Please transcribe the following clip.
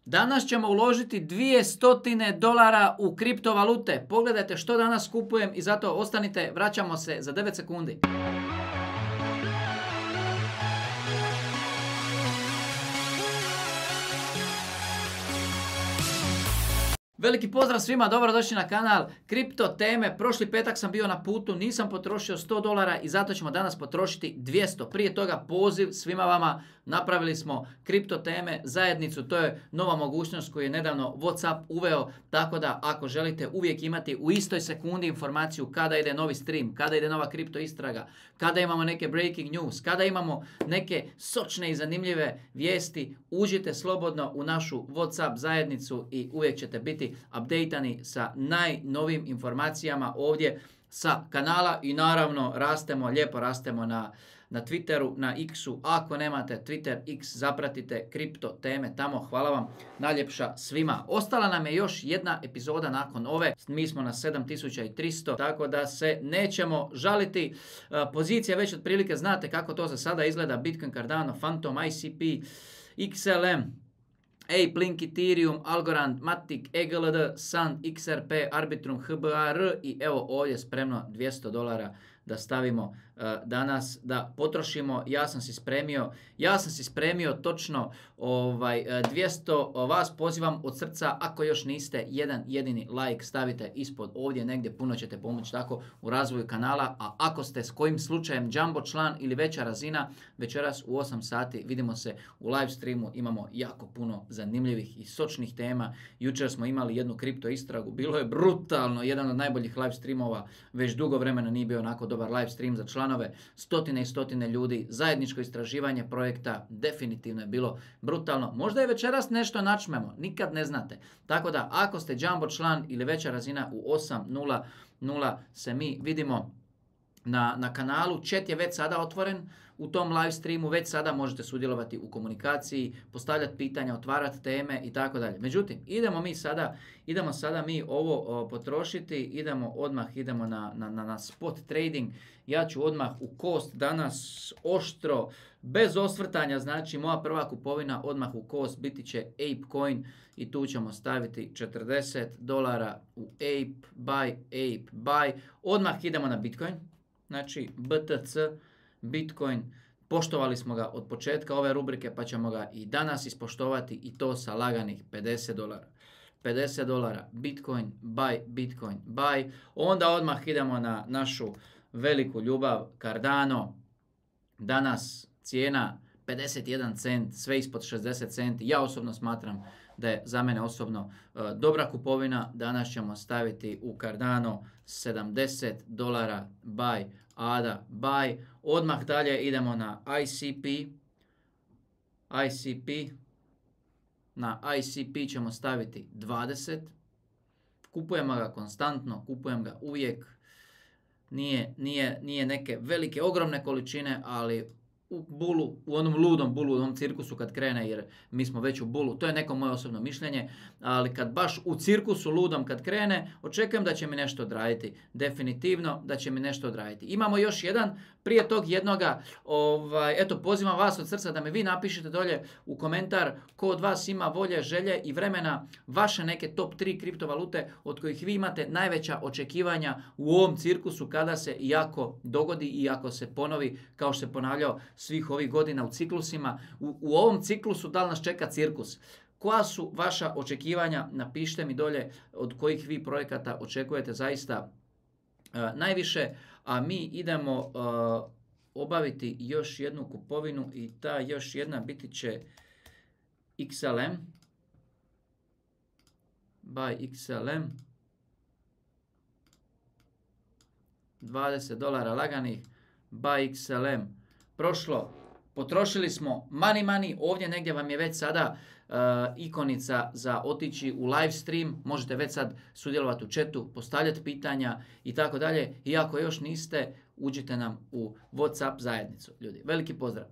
Danas ćemo uložiti $200 u kriptovalute. Pogledajte što danas kupujem i zato ostanite, vraćamo se za 9 sekundi. Veliki pozdrav svima, dobrodošli na kanal Kripto teme. Prošli petak sam bio na putu, nisam potrošio $100 i zato ćemo danas potrošiti 200. Prije toga poziv svima vama, napravili smo Kripto teme zajednicu, to je nova mogućnost koju je nedavno WhatsApp uveo, tako da ako želite uvijek imati u istoj sekundi informaciju kada ide novi stream, kada ide nova kripto istraga, kada imamo neke breaking news, kada imamo neke sočne i zanimljive vijesti, uđite slobodno u našu WhatsApp zajednicu i uvijek ćete biti updateani sa najnovijim informacijama ovdje sa kanala i naravno lijepo rastemo na Twitteru, na X-u. Ako nemate Twitter, X, zapratite Kripto teme tamo. Hvala vam najljepša svima. Ostala nam je još jedna epizoda nakon ove. Mi smo na 7300, tako da se nećemo žaliti. Pozicija već otprilike znate kako to za sada izgleda. Bitcoin, Cardano, Phantom, ICP, XLM, Ape, Link, Ethereum, Algorand, Matic, EGLD, Sun, XRP, Arbitrum, HBAR i evo ovdje spremno $200 da stavimo danas, da potrošimo. Ja sam si spremio točno 200, vas pozivam od srca, ako još niste, jedan jedini like stavite ispod ovdje negdje, puno ćete pomoći tako u razvoju kanala, a ako ste s kojim slučajem jumbo član ili veća razina, večeras u 8 sati vidimo se u live streamu, imamo jako puno zanimljivih i sočnih tema. Jučer smo imali jednu kripto istragu, bilo je brutalno, jedan od najboljih live streamova, već dugo vremena nije bio onako dobar live stream za članove, stotine i stotine ljudi, zajedničko istraživanje projekta, definitivno je bilo brutalno. Možda je večeras nešto načmemo, nikad ne znate. Tako da ako ste jumbo član ili veća razina u 8:00 se mi vidimo na kanalu. Chat je već sada otvoren u tom live streamu, već sada možete sudjelovati u komunikaciji, postavljati pitanja, otvarati teme i tako dalje. Međutim, idemo sada mi ovo potrošiti, idemo na spot trading. Ja ću odmah u cost danas oštro, bez osvrtanja, znači moja prva kupovina odmah u cost biti će ApeCoin i tu ćemo staviti $40 u Ape buy. Odmah idemo na Bitcoin. Znači BTC, Bitcoin, poštovali smo ga od početka ove rubrike pa ćemo ga i danas ispoštovati i to sa laganih $50. $50, Bitcoin buy. Onda odmah idemo na našu veliku ljubav Cardano. Danas cijena 51 cent, sve ispod 60 centi. Ja osobno smatram da je za mene osobno dobra kupovina. Danas ćemo staviti u Cardano $70 buy, ADA buy. Odmah dalje idemo na ICP. Na ICP ćemo staviti 20. Kupujemo ga konstantno, kupujem ga uvijek. Nije neke velike, ogromne količine, ali u onom ludom bulu, u onom cirkusu kad krene, jer mi smo već u bulu, to je neko moje osobno mišljenje, ali kad baš u cirkusu ludom kad krene, očekujem da će mi nešto odraditi, definitivno da će mi nešto odraditi. Imamo još jedan, prije tog jednoga, eto pozivam vas od srca da mi vi napišete dolje u komentar ko od vas ima volje, želje i vremena vaše neke top 3 kriptovalute od kojih vi imate najveća očekivanja u ovom cirkusu kada se jako dogodi i ako se ponovi kao što se ponavljao svih ovih godina u ciklusima. U ovom ciklusu da li nas čeka cirkus? Koja su vaša očekivanja? Napišite mi dolje od kojih vi projekata očekujete zaista najviše. A mi idemo obaviti još jednu kupovinu i ta još jedna biti će XLM. Buy XLM. $20 laganih. Buy XLM. Prošlo, potrošili smo money, ovdje negdje vam je već sada ikonica za otići u live stream, možete već sad sudjelovati u chatu, postavljati pitanja i tako dalje. I ako još niste, uđite nam u WhatsApp zajednicu. Ljudi, veliki pozdrav!